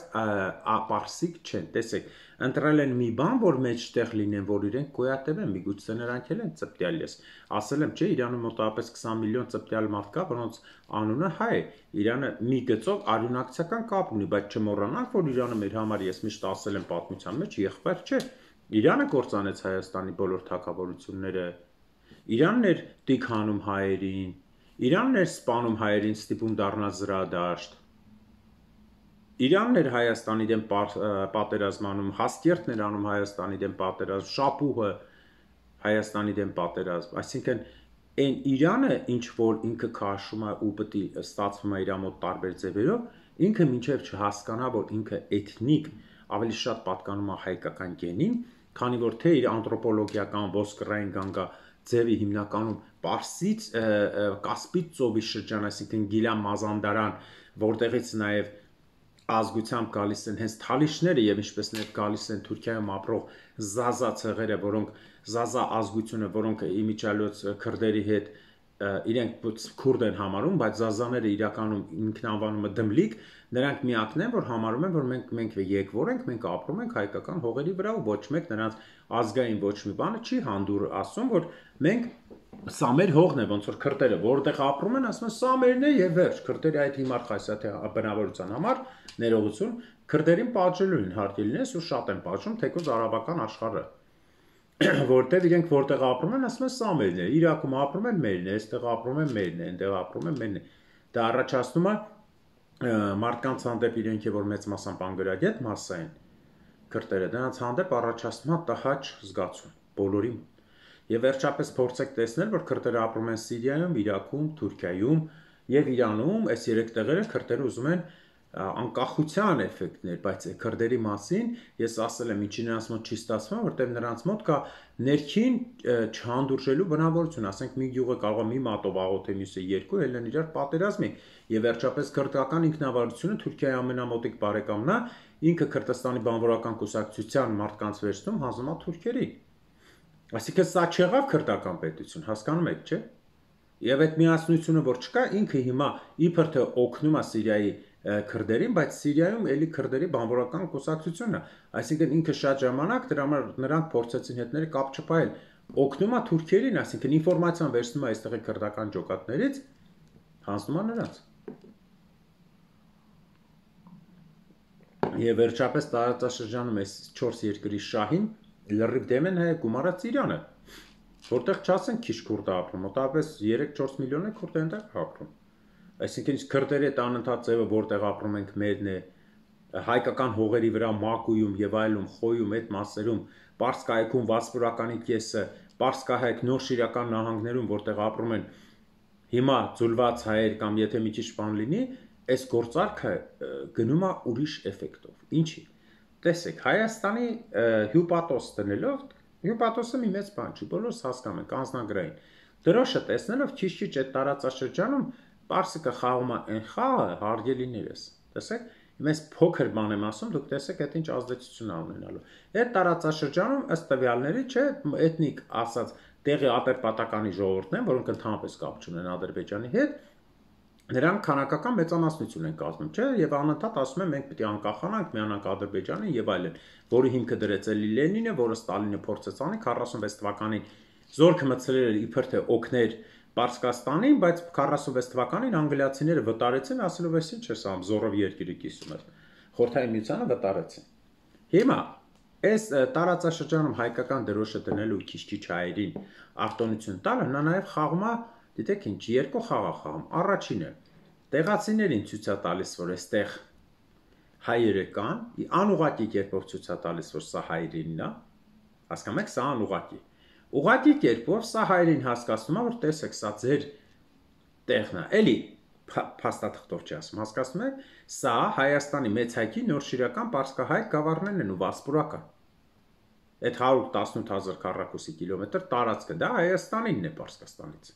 պարսիկ չեն։ Տեսեք, ընտրել են մի բան, որ մեջտեղ լինեն, որ իրենք գոյատև են, միգուցե նրանք էլ են ծպտյալ ես։ Ասել եմ, չէ, Իրանում մոտավորապես քսան միլիոն ծպտյալ մարդ կա, որոնց անունը հայ է։ Իրանը մի գծով արյունակցական կապ ունի, բայց չմոռանանք, որ Իրանը մեր համար, ես միշտ ասել եմ պատմության մեջ, եղբայր չէ։ Իրանը կործանեց Հայաստանի բոլոր թագավորությունները։ Իրանն էր տիքանում հայերին, Իրանն էր սպանում հայերին, ստիպում դառնալ զրադաշտ։ Իրանն էր Հայաստանի դեմ պատերազմանում, Հասկերտն էր անում Հայաստանի դեմ պատերազմ, Շապուհը Հայաստանի դեմ պատերազմ, այսինքն այն Իրանը, ինչ որ ինքը քաշում է ու պետք է ստացվում է իր մոտ տարբեր ձևերով, ինքը մինչև չհասկանա, որ ինքը էթնիկ ավելի շատ պատկանում է հայկական գենին, քանի որ թե իր անթրոպոլոգիական ոսկրային գանգա ձևի հիմնականում Պարսից, Կասպից ծովի շրջան, այսինքն Գիլան Մազանդարան, որտեղից նաև ազգությամբ գալիս են հենց թալիշները եւ ինչպես նաև գալիս են Թուրքիայում ապրող Զազա ցեղերը, որոնք Զազա ազգությունը, որոնք իմիջիալոց քրդերի հետ իրենք քուրդ են համարում, բայց Զազաները իրականում ինքնանվանումը Դմլիկ, նրանք միակն են, որ համարում են, որ մենք մենք եկվոր ենք, մենք ապրում ենք հայկական հողերի վրա ու ոչ մեկ նրանց ազգային ոչ մի բանը չի հանդուր ասում, որ մենք սա մեր հողն է, ոնց որ քրդերը որտեղ ապրում են, ասում են սա մերն է եւ վերջ, քրդերի այդ հիմար խայսաթի բնավորության համար ներողություն, քրդերին պատժելու են հարկի լինես ու շատ են պատժում, թեկուզ արաբական աշխարհը, որտեղ իրենք որտեղ ապրում են, ասում են սա մերն է, Իրաքում ապրում են մերն է, այստեղ ապրում են մերն է, այնտեղ ապրում են մերն է։ Դա առաջացնում է մարդկանց հանդեպ իրենք որ մեծ մասամբ անգրագետ մասսա են քրդերը, դրանց հանդեպ առաջացնում է տհաճ զգացում բոլորի մոտ։ Եվ վերջապես փորձեք տեսնել, որ քրդերը ապրում են Սիրիայում, Իրաքում, Թուրքիայում եւ Իրանում, այս երեք տեղերը քրդերը ուզում են անկախության էֆեկտներ, բայց քրդերի մասին ես ասել եմ, ինչի նրանց մոտ չի ստացվում, որտեղ նրանց մոտ կա ներքին չհանդուրժելու բնավորություն, ասենք մի գյուղը կարող է մի մատով աղոթե, մյուսը երկու, ելն են իրար պատերազմի, եւ վերջապես քրդական ինքնավարությունը Թուրքիայի ամենամոտիկ բարեկամն է, ինքը Քրդստանի բանվորական կուսակցության մարդկանց վերցնում հանձնում է թուրքերի։ Այսինքն սա չեղավ քրդական պետություն, հասկանում եք, չէ՞։ Եվ այդ միասնությունը, որ չկա, ինքը հիմա իբր թե օգնում է Սիրիայի քրդերին, բայց Սիրիայում էլի քրդերի բանվորական կուսակցությունն է։ Այսինքն ինքը շատ ժամանակ դրա համար նրանք փորձեցին հետները կապ չփայել, օգնում է թուրքերին, այսինքն ինֆորմացիան վերցնում է այստեղի քրդական ջոկատներից, հանձնում է նրանց։ Եվ վերջապես տարածաշրջանում այս չորս երկրի շահին լրիվ դեմ են հայ գումարած Իրանը, որտեղ չասեն քիչ քուրդ ապրում, մոտավորապես երեք-չորս միլիոն է քուրդ այնտեղ ապրում։ Այսինքն քրդերի այդ անընդհատ ձևը որտեղ ապրում ենք մերն է, հայկական հողերի վրա Մակույում եւ այլում, Խոյում այդ մասերում, Պարսկայքում վասպուրականի կեսը, Պարսկահայք նորշիրական նահանգներում, որտեղ ապրում են հիմա ձուլված հայեր կամ եթե մի քիչ բան լինի, այս գործարքը գնում է ուրիշ էֆեկտով։ Ինչի՞։ Տեսեք, Հայաստանի հյուպատոս տնելով, հյուպատոսը մի մեծ բան չի, բոլորս հասկանում ենք, անձնագրային։ Դրոշը տեսնելով քիչ-քիչ այդ տարածաշրջանում Պարսիկը խաղում է այն խաղը հարգելիներս։ Տեսեք, մեծ փոքր բան եմ ասում, դուք տեսեք այդ ինչ ազդեցություն է ունենալու։ Այդ տարածաշրջանում ըստ տվյալների, չէ, էթնիկ ասած տեղի ատրպատականի ժողովուրդն են, որոնք ընդհանրապես կապ չունեն Ադրբեջանի հետ, նրանք քանակական մեծամասնություն են կազմում, չէ, եւ անընդհատ ասում են մենք պետք է անկախանանք, միանանք Ադրբեջանին եւ այլն, որի հիմքը դրեց էլի Լենինը, որը Ստալինը փորձեց անի քառասունվեց թվականին զորքը մտցրել էր իբր թե օգներ Պարսկաստանին, բայց քառասունվեց թվականին անգլիացիները վտարեցին, ասելով էս ինչ է սա, զորով երկիրը կիսում է։ Խորհրդային միությանը վտարեցին։ Հիմա այս տարածաշրջանում հայկական դրոշը դնելու քիչ-քիչ հայերին արտոնություն տալը, նա նաեւ խաղում է, դիտեք ինչ, երկու խաղ է խաղում։ Առաջինը տեղացիներին ցույց է տալիս, որ այստեղ հայերը կան, անուղղակի կերպով ցույց է տալիս, որ սա հայերինն է, հասկանում եք, սա անուղղակի։ Ուղղակի կերպով սա հայերին հասկացնում է, որ տեսեք, սա ձեր տեղն է։ Էլի փաստաթղթով չի ասում, հասկացնում եք, սա Հայաստանի մեծ հայքի նոր շիրական պարսկահայ գավառներն են ու վասպուրական։ Այդ հարյուր տասնութ հազար քառակուսի կիլոմետր տարածքը, դա Հայաստանինն է Պարսկաստանից։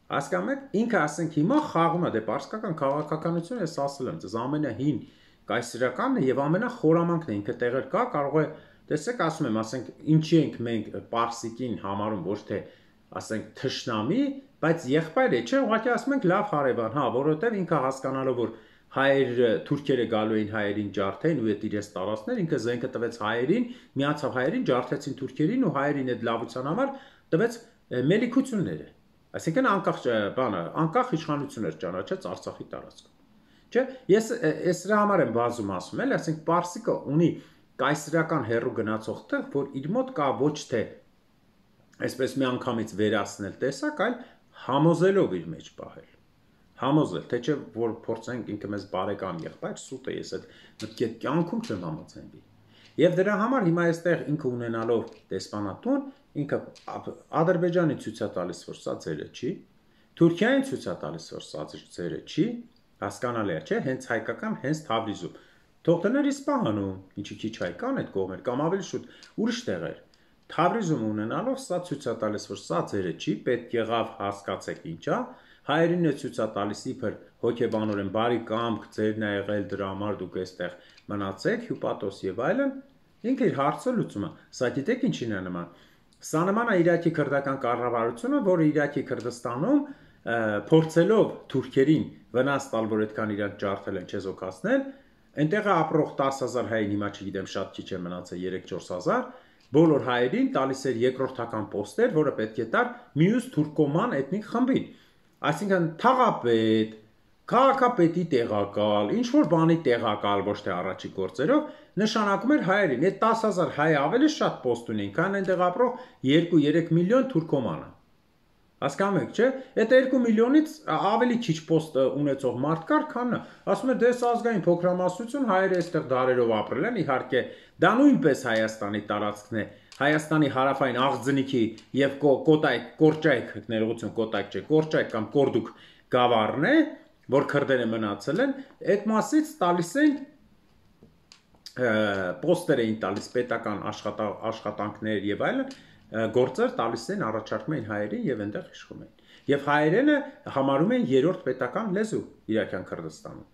Հասկանում եք, ինքը ասենք հիմա խաղում է դե պարսկական քաղաքականությունը, ես ասել եմ, ձեզ ամենահին կայսերականն է եւ ամենախորամանքն է, ինքը տեղեր կա, կարող է, տեսեք, ասում եմ, ասենք, ինչի ենք մենք պարսիկին համարում ոչ թե, ասենք, թշնամի, բայց եղբայր է, չէ, ուղղակի ասում ենք լավ հարևան, հա, որովհետեւ ինքը հասկանալով որ հայերը թուրքերը գալու էին հայերին ջարդեն ու այդ իրենց տարածքներ, ինքը զենքը տվեց հայերին, միացավ հայերին, ջարդեցին թուրքերին ու հայերին այդ լավության համար տվեց մելիքությունները։ Այսինքն անկախ բանը, անկախ իշխանություններ ճանաչեց Արցախի տարածքում։ Չէ, ես ես դրա համար եմ բազում ասում, էլ, ասենք պարսիկը ունի կայսերական հերու գնացող տեղ, որ իր մոտ կա ոչ թե այսպես մի անգամից վերացնել տեսակ, այլ համոզելով իր մեջ պահել։ Համոզել, թե չէ որ փորձենք ինքը մեզ բարեկամ եղբայր, սուտ է, ես այդ մտքի կյանքում չեմ համաձայնվի։ Եվ դրա համար հիմա այստեղ ինքը ունենալով դեսպանատուն, ինքը Ադրբեջանի ցույց է տալիս, որ սա ձերը չի, Թուրքիային ցույց է տալիս, որ սա ձերը չի, հասկանալի է, չէ, հենց հայկական, հենց Թավրիզում։ Թող դներ Իսպահանում, ինչի քիչ հայ կան այդ կողմեր, կամ ավելի շուտ ուրիշ տեղեր։ Թավրիզում ունենալով սա ցույց է տալիս, որ սա ձերը չի, պետք եղավ հասկացեք ինչա, հայերին է ցույց է տալիս իբր հոգեբանորեն բարի կամք, ձերն է եղել դրա համար դուք այստեղ մնացեք, հյուպատոս եւ այլն, ինքը իր հարցը լուծում է։ Սա գիտեք ինչին է նման։ Սա նման է Իրաքի քրդական կառավարությունը, որը Իրաքի Քրդստանում փորձելով թուրքերին վնաս տալ, որ այդքան իրանք ջարդել են չեզոքացնել, այնտեղ ապրող տասը հազար հային հիմա չգիտեմ շատ քիչ է մնացել երեք-չորս հազար, բոլոր հայերին տալիս էր երկրորդական պոստեր, որը պետք է տար մյուս թուրքոման էթնիկ խմբին։ Այսինքն թաղապետ, քաղաքապետի տեղակալ, ինչ որ բանի տեղակալ, ոչ թե առաջի գործերով, նշանակում էր հայերին։ Այդ տասը հազար հայ ավելի շատ պոստ ունեն, քան այնտեղ ապրող երկու-երեք միլիոն թուրքոմանը։ Հասկանում եք, չէ՞։ Այդ երկու միլիոնից ավելի քիչ պոստ ունեցող մարդ կար, քան ասում է դες ազգային փոքրամասնություն, հայերը այստեղ դարերով ապրել են, իհարկե, դա նույնպես Հայաստանի տարածքն է, Հայաստանի հարավային աղձնիքի եւ Կոտայք, Կորճայք, ներողություն, Կոտայք չէ, Կորճայք կամ Կորդուկ գավառն է, որ քրդերը մնացել են, այդ մասից տալիս են պոստեր էին տալիս պետական աշխատանքներ եւ այլն, գործեր տալիս են առաջարկում են հայերին եւ այնտեղ իշխում են։ Եվ հայերենը համարում են երրորդ պետական լեզու Իրաքյան Քրդստանում։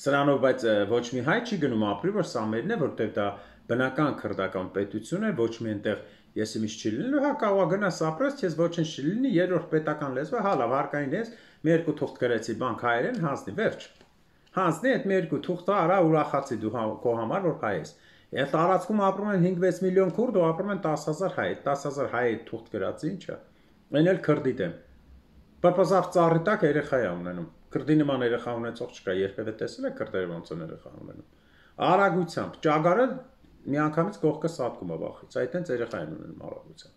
Սրանով բայց ոչ մի հայ չի գնում ապրի, որ սա մերն է, որտեղ դա բնական քրդական պետություն է, ոչ մի այնտեղ ես իմիջ չի լինելու, հա կարող գնաս ապրես, քեզ ոչինչ չի լինի, երրորդ պետական լեզվը, հա լավ, հարկային ես, մի երկու թուղթ գրեցի բանկ հայերեն, հանձնի, վերջ։ Հանձնի այդ մի երկու թուղթը արա ուրախացի դու քո համար որ հայ ես։ Այդ տարածքում ապրում են հինգ-վեց միլիոն քուրդ ու ապրում են տասը հազար հայ, տասը հազար հայ թուղթ գրած ինչա։ Այն էլ քրդի դեմ։ Պապազավ ծառի տակ երեխա է ունենում։ Քրդի նման երեխա ունեցող չկա, երբևէ տեսել եք քրդերը ոնց են երեխա ունենում։ Արագությամբ, ճագարը միանգամից կողքը սատկում է վախից, այդտենց երեխա են ունենում արագությամբ։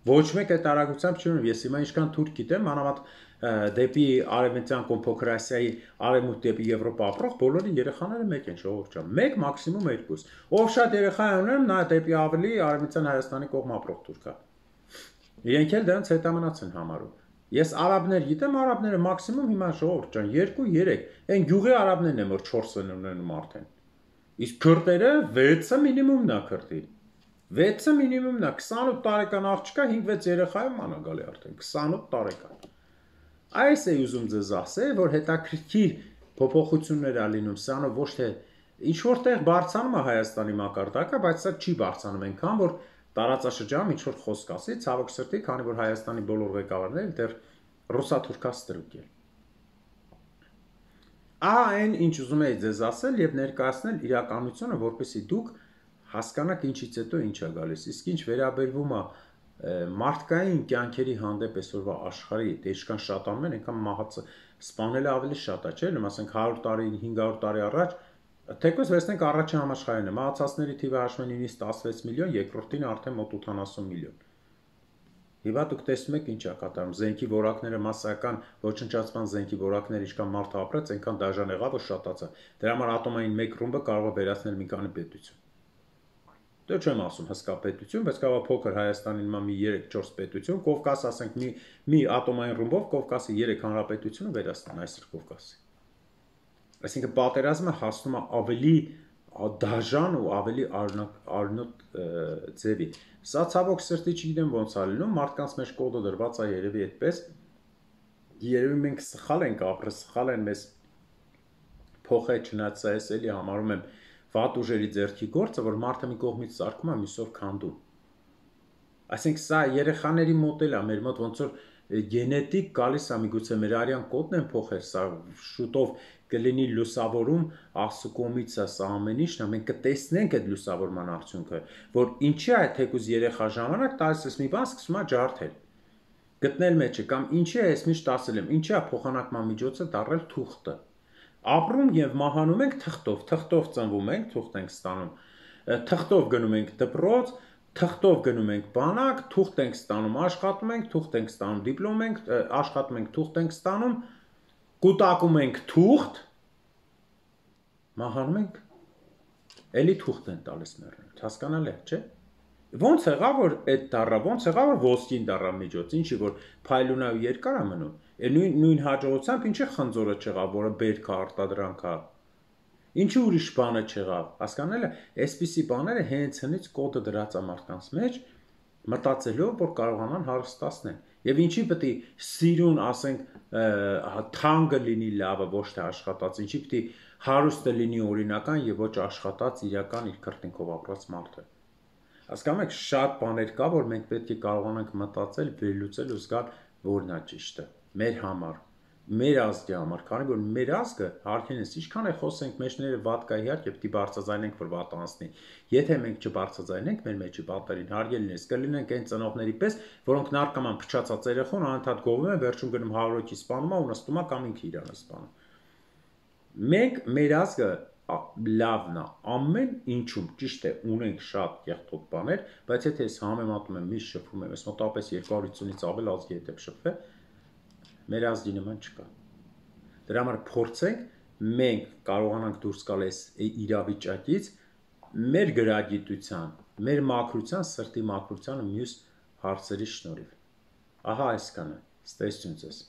Ոչ մեկ այդ արագությամբ չի ունում, ես հիմա ինչքան թուրք գիտեմ, մանավանդ դեպի արևմտյան կամ Փոքր Ասիայի արևմուտք դեպի Եվրոպա ապրող բոլորի երեխաները մեկ են, ժողովուրդ ջան, մեկ մաքսիմում երկուս։ Ով շատ երեխա է ունենում, նա դեպի ավելի արևմտյան Հայաստանի կողմ ապրող թուրք է։ Իրենք էլ դրանց հետամնաց են համարում։ Ես արաբներ գիտեմ, արաբները մաքսիմում հիմա ժողովուրդ ջան երկու երեք, այն գյուղի արաբներն են որ չորս են ունենում արդեն։ Իսկ քրդերը վեցը մինիմումն է քրդի։ վեցը մինիմումն է, քսանութ տարեկան աղջկա հինգ-վեց երեխայում մանագալի արդեն, քսանութ տարեկան։ Այս է ուզում ձեզ ասել, որ հետաքրքիր փոփոխություններ ա լինում, սրանով ոչ թե ինչ-որ տեղ բարձանում է Հայաստանի մակարդակը, բայց սա չի բարձանում այնքան, որ տարածաշրջանում ինչ-որ խոսք ասի, ցավոք սրտի, քանի որ Հայաստանի բոլոր ղեկավարները դեռ ռուսաթուրքա ստրուկ են։ Ահա այն, ինչ ուզում էի ձեզ ասել եւ ներկայացնել իրականությունը, որպեսզի դուք հասկանաք ինչից հետո ինչ է գալիս, իսկ ինչ վերաբերվում է մարդկային կյանքերի հանդեպ այսօրվա աշխարհի, դե ինչքան շատանում են, այնքան մահացը սպանելը ավելի շատ է, չէ՞, ասենք հարյուր տարի, հինգ հարյուր տարի առաջ, թեկուզ վերցնենք առաջին համաշխարհային, մահացածների թիվը հաշվում են նույնիսկ տասնվեց միլիոն, երկրորդին արդեն մոտ ութանասուն միլիոն։ Հիմա դուք տեսնում եք ինչ է կատարում, զենքի որակները massական ոչնչացման զենքի որակները ինչքան մարդ ապրեց, այնքան դաժան եղավ, որ շատացա։ Դրա համար ատոմային մեկ ռումբը կարող է վերացնել մի քանի պետություն։ Դե չեմ ասում հսկա պետություն, բայց կարող է փոքր Հայաստանի նման մի երեք չորս պետություն, Կովկաս ասենք մի մի ատոմային ռումբով Կովկասի երեք հանրապետությունը վերացնեն այսօր Կովկասի։ Այսինքն պատերազմը հասնում է ավելի դաժան ու ավելի արնոտ ձևի։ Սա ցավոք սրտի չգիտեմ ոնց է լինում, մարդկանց մեջ կոդը դրված է երևի այդպես։ Երևի մենք սխալ ենք ապրել, սխալ են մեզ փոխել, չնայած սա էս էլի համարում եմ վատ ուժերի ձեռքի գործը, որ մարդը մի կողմից սարքում է, մյուսով քանդում։ Այսինքն սա երեխաների մոտ էլ է, մեր մոտ ոնց որ գենետիկ գալիս է, միգուցե մեր արյան կոդն են փոխել, սա շուտով կլինի լուսավորում Աստծո կողմից է սա ամեն ինչն է, մենք կտեսնենք այդ լուսավորման արդյունքը, որ ինչի է թեկուզ երեխա ժամանակ տալիս ես մի բան սկսում է ջարդել։ Գտնել մեջը կամ ինչի է ես միշտ ասել եմ, ինչի է փոխանակման միջոցը դառել թուղթը։ Ապրում եւ մահանում ենք թղթով, թղթով ծնվում ենք, թուղթ ենք ստանում, թղթով գնում ենք դպրոց, թղթով գնում ենք բանակ, թուղթ ենք ստանում, աշխատում ենք, թուղթ ենք ստանում, դիպլոմ ենք, աշխատում ենք, թուղթ ենք ստանում, կուտակում ենք թուղթ, մահանում ենք, էլի թուղթ են տալիս մեռնել, հասկանալի է, չէ՞։ Ոնց եղավ որ այդ դառա, ոնց եղավ որ ոսկին դառա միջոց, ինչի որ փայլուն ու երկար է մնում։ Նույն նույն հաջողությամբ ինչի խնձորը չեղավ, որը բերք է արտադրանք է։ Ինչի ուրիշ բանը չեղավ, հասկանալի է, այսպիսի բաները հենց հնից կոդը դրած է մարդկանց մեջ, մտածելով որ կարողանան հարստացնել։ Եվ ինչի պետք է սիրուն, ասենք, թանկը լինի լավը, ոչ թե աշխատած, ինչի պետք է հարուստը լինի օրինական եւ ոչ աշխատած իրական իր քրտինքով ապրած մարդը։ Հասկանում եք, շատ բաներ կա, որ մենք պետք է կարողանանք մտածել, վերլուծել ու զգալ, որն է ճիշտը մեր համար, մեր ազգի համար, քանի որ մեր ազգը հարգենես, ինչքան է խոսենք մեջները վատ կա իհարկե պետք է բարձրաձայնենք, որ վատ անցնի։ Եթե մենք չբարձրաձայնենք մեր մեջի պատերին, հարգելինես, կլինենք այն ծնողների պես, որոնք նարկոման փչացած երեխան անընդհատ գովում են, վերջում գնում հարյուրի սպանում է ու նստում է կամ ինքը իրան սպանում։ Մենք մեր ազգը լավն է, ամեն ինչում ճիշտ է, ունենք շատ կեղտոտ բաներ, բայց եթե ես համեմատում եմ, միշտ շփվում եմ, ես մոտավորապես երկու հարյուր պինցանից ավել ազգի հետ եմ շփվել, մեր ազգի նման չկա։ Դրա համար փորձենք մենք կարողանանք դուրս գալ այս իրավիճակից մեր գրագիտության, մեր մաքրության, սրտի մաքրության ու մյուս հարցերի շնորհիվ։ Ահա այսքանը։ Ստեսություն ձեզ։